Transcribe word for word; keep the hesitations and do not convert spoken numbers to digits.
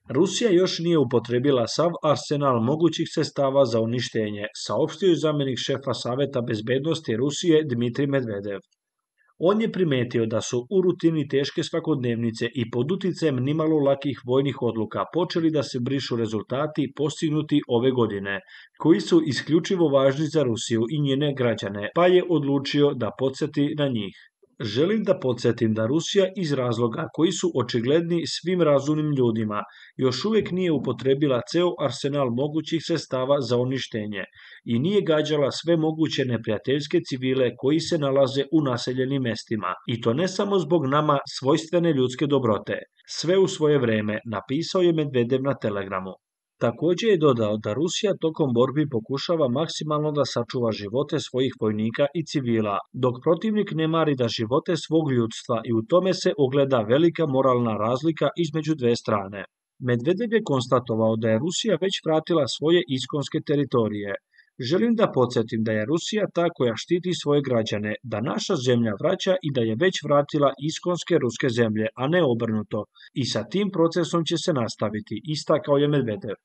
Rusija još nije upotrijebila sav arsenal mogućih sredstava za uništenje, saopštio je zamjenik šefa Saveta bezbednosti Rusije Dmitrij Medvedev. On je primetio da su u rutini teške svakodnevnice i pod uticajem nimalo lakih vojnih odluka počeli da se brišu rezultati postignuti ove godine, koji su isključivo važni za Rusiju i njene građane, pa je odlučio da podsjeti na njih. Želim da podsjetim da Rusija iz razloga koji su očigledni svim razumnim ljudima još uvijek nije upotrebila ceo arsenal mogućih sredstava za uništenje i nije gađala sve moguće neprijateljske civile koji se nalaze u naseljenim mestima, i to ne samo zbog nama svojstvene ljudske dobrote. Sve u svoje vreme, napisao je Medvedev na Telegramu. Također je dodao da Rusija tokom borbi pokušava maksimalno da sačuva živote svojih vojnika i civila, dok protivnik ne mari da živote svog ljudstva, i u tome se ogleda velika moralna razlika između dve strane. Medvedev je konstatovao da je Rusija već vratila svoje iskonske teritorije. Želim da podsjetim da je Rusija ta koja štiti svoje građane, da naša zemlja vraća i da je već vratila iskonske ruske zemlje, a ne obrnuto, i sa tim procesom će se nastaviti, istakao je Medvedev.